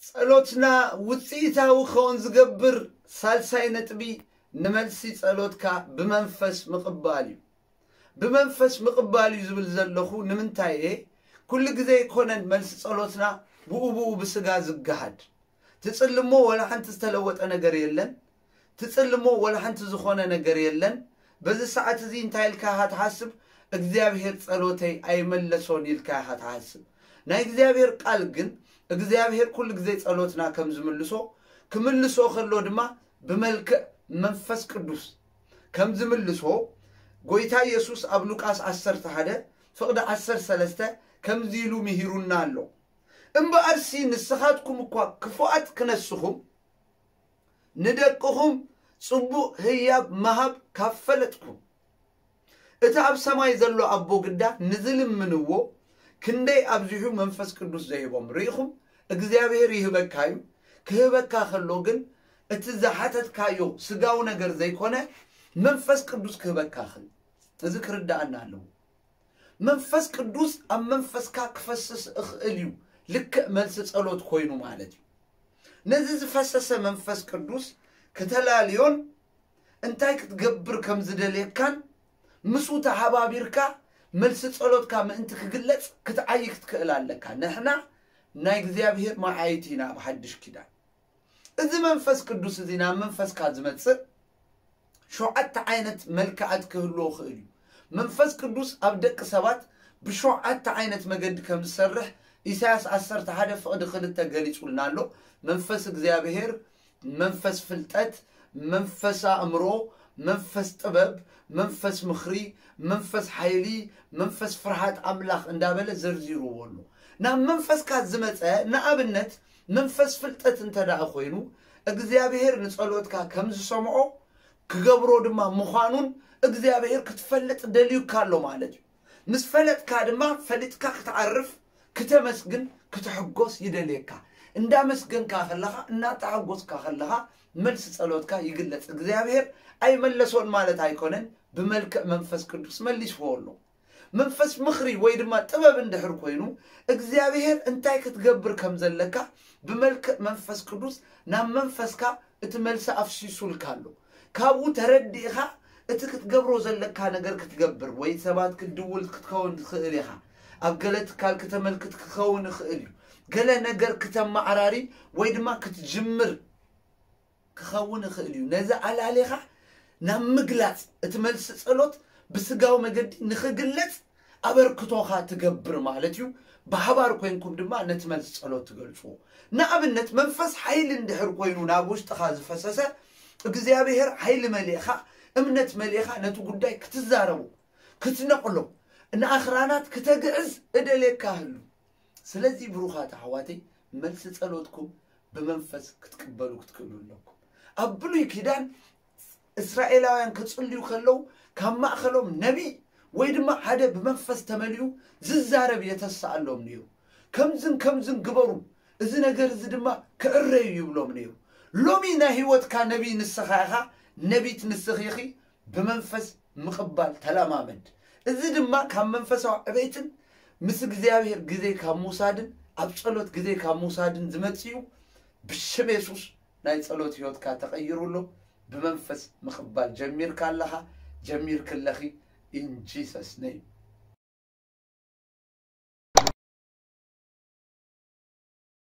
ጸሎትና ውጽኢታዊ ክኸውን ዝገብር ሳልሳይ ነጥቢ፣ ንመልሲ ጸሎትካ ብመንፈስ ምቕባል እዩ። ብመንፈስ ምቕባል እዩ ዝብል ዘለኹ ንምንታይ እየ? ኩሉ ግዜ ኣይኮነን መልሲ ጸሎትና ብኡ ብኡ ብስጋ ዝገሃድ። ትጽልሞ ወላ ሓንቲ ዝተለወጠ ነገር የለን። ትጽልሞ ወላ ሓንቲ ዝኾነ ነገር የለን። በዚ ሰዓት እዚ እንታይ ኢልካ ኢኻ ትሓስብ? እግዚኣብሔር ጸሎተይ ኣይመለሶን ኢልካ ኢኻ ትሓስብ። ናይ እግዚኣብሔር ቃል ግን እግዚኣብሔር ኩሉ ግዜ ጸሎትና ከም ዝምልሶ፣ ክምልሶ ከሎ ድማ ብመልክዕ መንፈስ ቅዱስ ከም ዝምልሶ ጎይታ ኢየሱስ ኣብ ሉቃስ ዓሰርተ ሓደ ፍቕዲ ዓሰርተ ሰለስተ ከምዚ ኢሉ ምሂሩና ኣሎ። እምበኣርሲ ንስኻትኩም እኳ ክፉኣት ክነስኹም ንደቅኹም ጽቡቕ ህያብ ምሃብ ካብ ፈለጥኩም፣ እቲ ኣብ ሰማይ ዘሎ ኣቦ ግዳ ንዝልምንዎ ክንደይ ኣብዚሑ መንፈስ ቅዱስ ዘይቦም ርኢኹም። እግዚኣብሔር ይህበካ እዩ። ክህበካ ከሎ ግን እቲ ዝሓተትካዮ ስጋዊ ነገር ዘይኮነ መንፈስ ቅዱስ ክህበካ ክእል። እዚ ክርዳኣና ኣለዎ። መንፈስ ቅዱስ ኣብ መንፈስካ ክፈስስ እኽእል እዩ። ልክዕ መልሲ ጸሎት ኮይኑ ማለት እዩ። ነዚ ዝፈሰሰ መንፈስ ቅዱስ ክተላልዮን እንታይ ክትገብር ከም ዝደልየካን ምስኡ ተሓባቢርካ መልሲ ጸሎትካ ምእንቲ ክግለጽ ክትዓይ ክትክእል ኣለካ። ንሕና ናይ እግዚኣብሔር መዓይቲ ኢና ኣብ ሓድሽ ኪዳን። እዚ መንፈስ ቅዱስ እዚ ናብ መንፈስካ ዝመጽእ ሸውዓተ ዓይነት መልክዓት ክህልዎ ክእል እዩ። መንፈስ ቅዱስ ኣብ ደቂ ሰባት ብሸውዓተ ዓይነት መገዲ ከም ዝሰርሕ ኢሳያስ ዓሰርተ ሓደ ፍቕዲ ክልተ ገሊጹልና ኣሎ። መንፈስ እግዚኣብሔር፣ መንፈስ ፍልጠት፣ መንፈስ ኣእምሮ፣ መንፈስ ጥበብ፣ መንፈስ ምኽሪ፣ መንፈስ ሓይሊ፣ መንፈስ ፍርሃት ኣምላኽ እንዳበለ ዘርዚርዎ ኣሎ። ናብ መንፈስካ ዝመጸ ንኣብነት መንፈስ ፍልጠት እንተ ደኣ ኮይኑ እግዚኣብሔር ንጸሎትካ ከም ዝሰምዖ ክገብሮ ድማ ምዃኑን እግዚኣብሔር ክትፈልጥ ደልዩካ ኣሎ ማለት እዩ። ምስ ፈለጥካ ድማ ፈሊጥካ ክትዓርፍ፣ ክተመስግን፣ ክትሕጎስ ይደልየካ። እንዳመስገንካ ከለኻ እናተሓጎስካ ከለኻ መልሲ ጸሎትካ ይግለጽ። እግዚኣብሔር ኣይመለሶን ማለት ኣይኮነን፣ ብመልክዕ መንፈስ ቅዱስ መሊስዎ ኣሎ። መንፈስ ምኽሪ ወይ ድማ ጥበብ እንድሕር ኮይኑ እግዚኣብሔር እንታይ ክትገብር ከም ዘለካ ብመልክዕ መንፈስ ቅዱስ ናብ መንፈስካ እቲ መልሲ ኣፍሲሱልካ ኣሎ። ካብኡ ተረዲእኻ እቲ ክትገብሮ ዘለካ ነገር ክትገብር ወይ ሰባት ክትድውል ክትከውን ትኽእል ኢኻ። ኣብ ገለ ትካል ክተመልክት ክኸውን ይኽእል እዩ። ገለ ነገር ክተመዓራሪ ወይ ድማ ክትጅምር ክኸውን ይኽእል እዩ። ነዚ ኣላሊኻ ናብ ምግላጽ እቲ መልሲ ጸሎት ብስጋዊ መገዲ ንኽግለጽ ኣበርክቶኻ ትገብር ማለት እዩ። ብሓባር ኮይንኩም ድማ ነቲ መልሲ ጸሎት ትገልጽዎ። ንኣብነት መንፈስ ሓይሊ እንድሕር ኮይኑ ናብ ውሽጥኻ ዝፈሰሰ እግዚኣብሔር ሓይሊ መሊእኻ እምነት መሊእኻ ነቲ ጉዳይ ክትዛረቡ ክትነቕሎ ንኣኽራናት ክተግዕዝ እደልየካ ህሉ። ስለዚ ብሩኻት ኣሕዋተይ መልሲ ጸሎትኩም ብመንፈስ ክትቅበሉ ክትክእሉ ኣለኩም። ኣብ ብሉይ ኪዳን እስራኤላውያን ክጽልዩ ከለዉ ካብ ማእኸሎም ነቢይ ወይ ድማ ሓደ ብመንፈስ ተመሊኡ ዝዛረብ የተስኣሎም ነይሩ። ከምዝን ከምዝን ግበሩ፣ እዚ ነገር እዚ ድማ ክዕረዩ ይብሎም ነይሩ። ሎሚ ናይ ህይወትካ ነቢይ ንስኻ ኢኻ፣ ነቢት ንስኺ ኢኺ። ብመንፈስ ምቕባል ተለማመድ። እዚ ድማ ካብ መንፈሳዊ ዕቤትን ምስ እግዚኣብሔር ግዜ ካብ ምውሳድን ኣብ ጸሎት ግዜ ካብ ምውሳድን ዝመጽእ እዩ። ብሽም የሱስ ናይ ጸሎት ህይወትካ ተቐይሩ ኣሎ። ብመንፈስ ምቕባል ጀሚርካ ኣለኻ፣ ጀሚርኪ ኣለኺ። In Jesus name.